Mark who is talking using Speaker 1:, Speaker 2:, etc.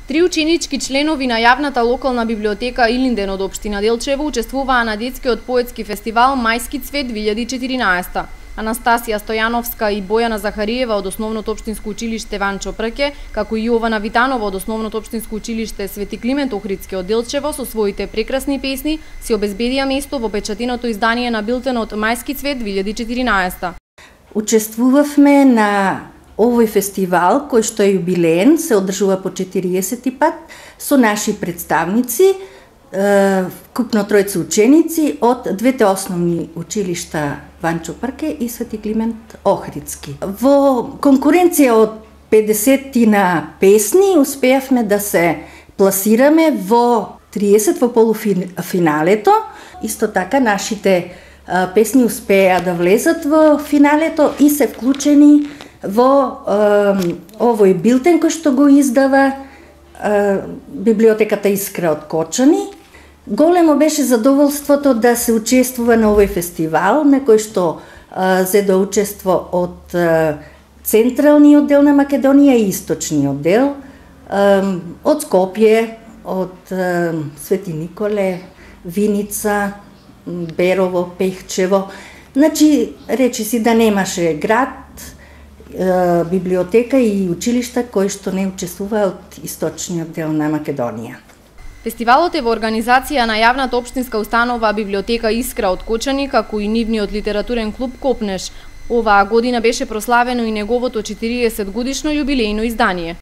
Speaker 1: Три ученички членови на јавната локална библиотека Илинден од општина Делчево учествуваа на детскиот поетски фестивал Мајски цвет 2014. Анастасија Стојановска и Бојана Захариева од Основното општинско училиште Ванчо Прке, како и Јована Витанова од Основното општинско училиште Свети Климент Охридски од Делчево со своите прекрасни песни си обезбедија место во печатиното издание на билтенот Мајски цвет 2014.
Speaker 2: Учествувавме на овој фестивал, кој што е јубилеен, се одржува по 40 пат, со наши представници, вкупно тројца ученици од двете основни училишта Ванчо Прке и Свети Климент Охридски. Во конкуренција од 50-тина песни успеавме да се пласираме во 30 во полуфиналето. Исто така нашите песни успеа да влезат во финалето и се вклучени во овој билтен кој што го издава библиотеката Искра од Кочани. Големо беше задоволството да се учествува на овој фестивал, на кој што зедо учество од централниот дел на Македонија и источниот дел, од Скопје, од Свети Николе, Виница, Берово, Пехчево. Значи, речиси да немаше град, библиотека и училишта кои што не учествуваа од источниот дел на Македонија.
Speaker 1: Фестивалот е во организација на јавната општинска установа Библиотека Искра од Кочани, како и нивниот литературен клуб Копнеш. Оваа година беше прославено и неговото 40 годишно јубилејно издание.